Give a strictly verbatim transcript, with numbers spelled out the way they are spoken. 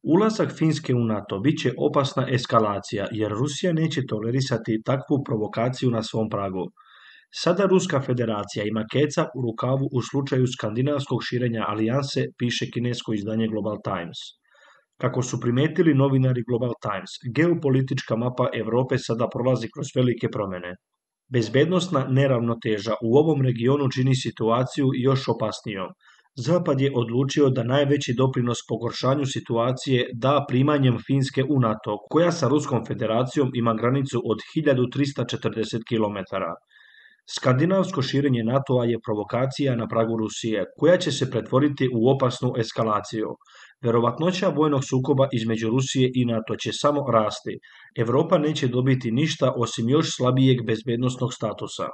Ulazak Finske u NATO bit će opasna eskalacija jer Rusija neće tolerisati takvu provokaciju na svom pragu. Sada Ruska federacija ima keca u rukavu u slučaju skandinavskog širenja alijanse, piše kinesko izdanje Global Times. Kako su primetili novinari Global Times, geopolitička mapa Europe sada prolazi kroz velike promjene. Bezbednosna neravnoteža u ovom regionu čini situaciju još opasnijom. Zapad je odlučio da najveći doprinos pogoršanju situacije da primanjem Finske u NATO, koja sa Ruskom federacijom ima granicu od hiljadu trista četrdeset kilometara. Skandinavsko širenje NATO-a je provokacija na pragu Rusije, koja će se pretvoriti u opasnu eskalaciju. Verovatnoća vojnog sukoba između Rusije i NATO će samo rasti. Europa neće dobiti ništa osim još slabijeg bezbednosnog statusa.